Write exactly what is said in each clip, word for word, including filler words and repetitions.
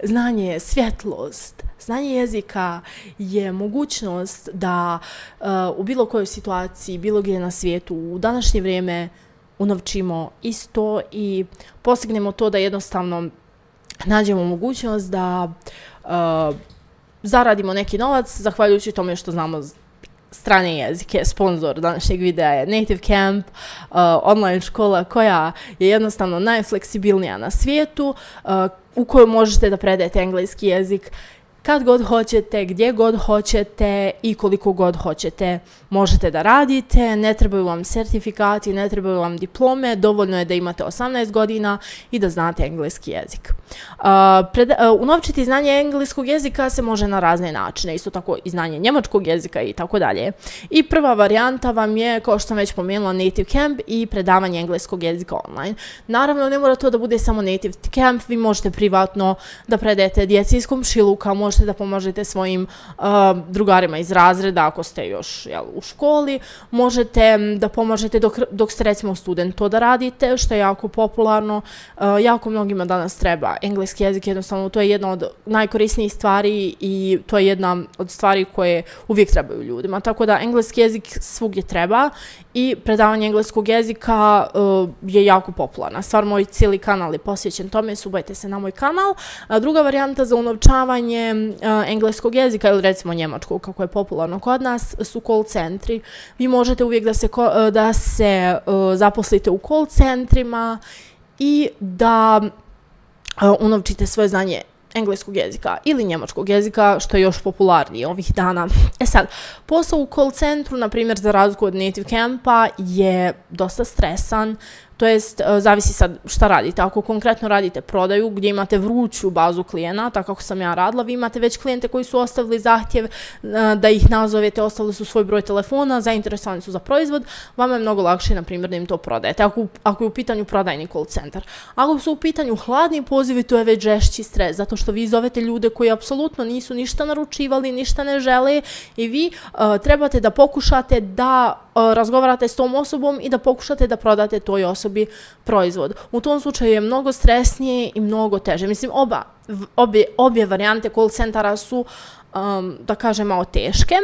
Znanje je svjetlost. Znanje jezika je mogućnost da uh, u bilo kojoj situaciji, bilo gdje na svijetu, u današnje vrijeme unovčimo isto i postignemo to da jednostavno nađemo mogućnost da uh, zaradimo neki novac zahvaljujući tome što znamo strane jezike. Sponzor današnjeg videa je Native Camp, uh, online škola koja je jednostavno najfleksibilnija na svijetu, uh, u kojoj možete da predajete engleski jezik kad god hoćete, gdje god hoćete i koliko god hoćete možete da radite. Ne trebaju vam sertifikati, ne trebaju vam diplome, dovoljno je da imate osamnaest godina i da znate engleski jezik. Uh, pred, uh, unovčiti znanje engleskog jezika se može na razne načine, isto tako i znanje njemačkog jezika i tako dalje. I prva varijanta vam je, kao što sam već pomenula, Native Camp i predavanje engleskog jezika online. Naravno, ne mora to da bude samo Native Camp, vi možete privatno da predajete djeci iz komšiluka, možete da pomožete svojim uh, drugarima iz razreda ako ste još jel, u školi, možete da pomožete dok, dok ste recimo student to da radite, što je jako popularno, uh, jako mnogima danas treba engleski jezik, jednostavno to je jedna od najkorisnijih stvari i to je jedna od stvari koje uvijek trebaju ljudima, tako da engleski jezik svugdje treba i predavanje engleskog jezika uh, je jako popularna stvar. Moj cijeli kanal je posvećen tome, subajte se na moj kanal. A druga varijanta za unovčavanje uh, engleskog jezika ili recimo njemačkog, kako je popularno kod nas, su call centri. Vi možete uvijek da se, uh, da se uh, zaposlite u call centrima i da uh, unovčite svoje znanje engleskog jezika ili njemačkog jezika, što je još popularnije ovih dana. E sad, posao u call centru, na primjer za razliku od Native Campa, je dosta stresan, to jest zavisi sad šta radite. Ako konkretno radite prodaju gdje imate vruću bazu klijenata, kako sam ja radila, vi imate već klijente koji su ostavili zahtjev da ih nazovete, ostavili su svoj broj telefona, zainteresovani su za proizvod, vama je mnogo lakše, na primjer, da im to prodajete, ako, ako je u pitanju prodajni call centar. Ako su u pitanju hladni pozivi, to je već žešći stres, zato što vi zovete ljude koji apsolutno nisu ništa naručivali, ništa ne žele i vi uh, trebate da pokušate da uh, razgovarate s tom osobom i da pokušate da prodate toj osobi proizvod. U tom slučaju je mnogo stresnije i mnogo teže. Mislim, oba, obje, obje varijante call centara su, um, da kažem, malo teške.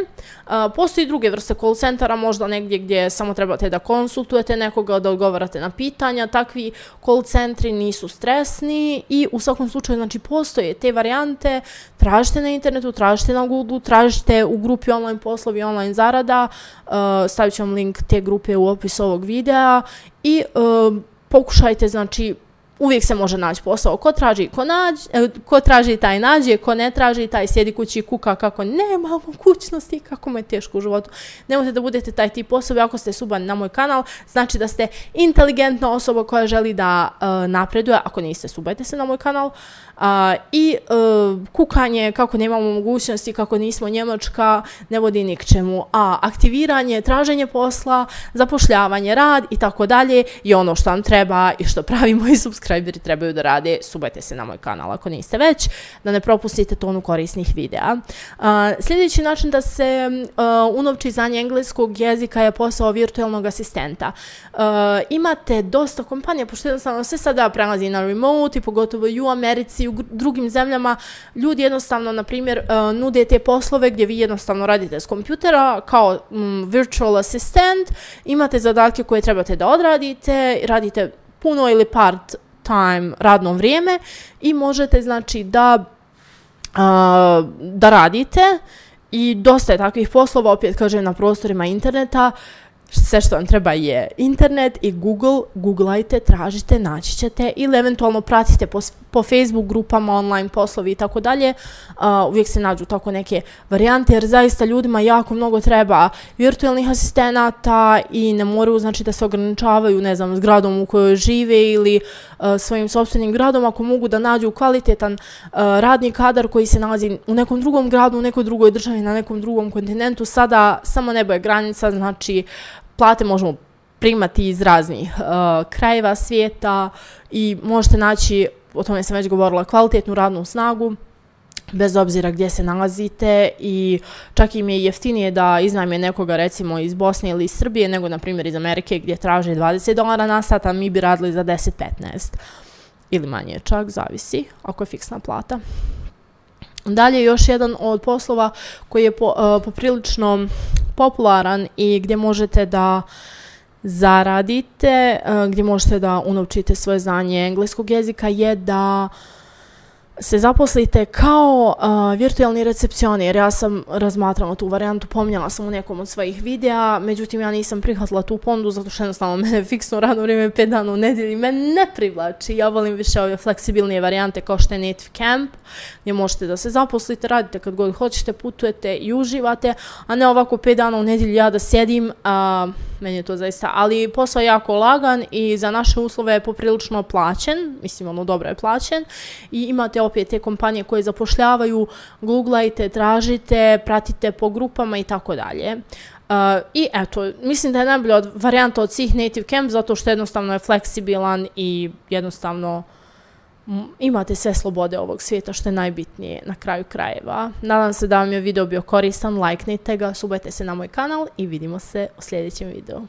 Uh, postoji druge vrste call centara, možda negdje gdje samo trebate da konsultujete nekoga, da odgovarate na pitanja. Takvi call centri nisu stresni i u svakom slučaju, znači, postoje te varijante. Tražite na internetu, tražite na Google, tražite u grupi online poslovi, online zarada. Uh, stavit ću vam link te grupe u opisu ovog videa i uh, pokušajte, znači, uvijek se može naći posao. Ko traži, ko, nađe, ko traži, taj nađe, ko ne traži, taj sjedi kući i kuka kako nema mogućnosti, kako mu je teško u životu. Nemojte da budete taj tip osobe. Ako ste subani na moj kanal, znači da ste inteligentna osoba koja želi da uh, napreduje. Ako niste, subajte se na moj kanal. Uh, I uh, kukanje, kako nemamo mogućnosti, kako nismo Njemačka, ne vodi ni k čemu. A aktiviranje, traženje posla, zapošljavanje, rad i tako dalje je ono što vam treba i što pravi moji subscriberi trebaju da rade. Subajte se na moj kanal ako niste već, da ne propustite tonu korisnih videa. Uh, sljedeći način da se uh, unovči znanje engleskog jezika je posao virtualnog asistenta. Uh, imate dosta kompanija, pošto jednostavno sve sada prelazi na remote i pogotovo i u Americi, u drugim zemljama, ljudi jednostavno, na primjer, uh, nude te poslove gdje vi jednostavno radite s kompjutera kao um, virtual assistant, imate zadatke koje trebate da odradite, radite puno ili part time radno vrijeme i možete, znači, da, uh, da radite i dosta je takvih poslova, opet kažem, na prostorima interneta. Sve što vam treba je internet i Google, googlajte, tražite, naći ćete ili eventualno pratite po, po Facebook grupama, online poslovi i tako dalje. Uvijek se nađu tako neke varijante jer zaista ljudima jako mnogo treba virtualnih asistenata i ne moraju, znači, da se ograničavaju, ne znam, zgradom u kojoj žive ili uh, svojim sopstvenim gradom. Ako mogu da nađu kvalitetan uh, radni kadar koji se nalazi u nekom drugom gradu, u nekoj drugoj državi, na nekom drugom kontinentu, sada samo nebo je granica, znači plate možemo primati iz raznih uh, krajeva svijeta i možete naći, o tome sam već govorila, kvalitetnu radnu snagu bez obzira gdje se nalazite i čak im je jeftinije da iznajme nekoga recimo iz Bosne ili iz Srbije nego na primjer iz Amerike gdje traže dvadeset dolara na sat, a mi bi radili za deset do petnaest. ili manje čak, zavisi ako je fiksna plata. Dalje, još jedan od poslova koji je po, uh, poprilično popularan i gdje možete da zaradite, uh, gdje možete da unovčite svoje znanje engleskog jezika je da se zaposlite kao uh, virtualni recepcionir. Ja sam razmatrala tu varijantu, pominjala sam u nekom od svojih videa, međutim ja nisam prihvatila tu ponudu zato što jednostavno mene fiksno radno vrijeme pet dana u nedjelji me ne privlači. Ja volim više ove fleksibilnije varijante kao što je Native Camp, gdje možete da se zaposlite, radite kad god hoćete, putujete i uživate, a ne ovako pet dana u nedjelji ja da sjedim. Uh, meni je to zaista, ali posao je jako lagan i za naše uslove je poprilično plaćen, mislim ono dobro je plaćen i imate opet te kompanije koje zapošljavaju, googlajte, tražite, pratite po grupama i tako dalje. I eto, mislim da je najbolja od, varijanta od svih Native Camp zato što jednostavno je fleksibilan i jednostavno imate sve slobode ovog svijeta što je najbitnije na kraju krajeva. Nadam se da vam je video bio koristan, lajknite ga, subajte se na moj kanal i vidimo se u sljedećem videu.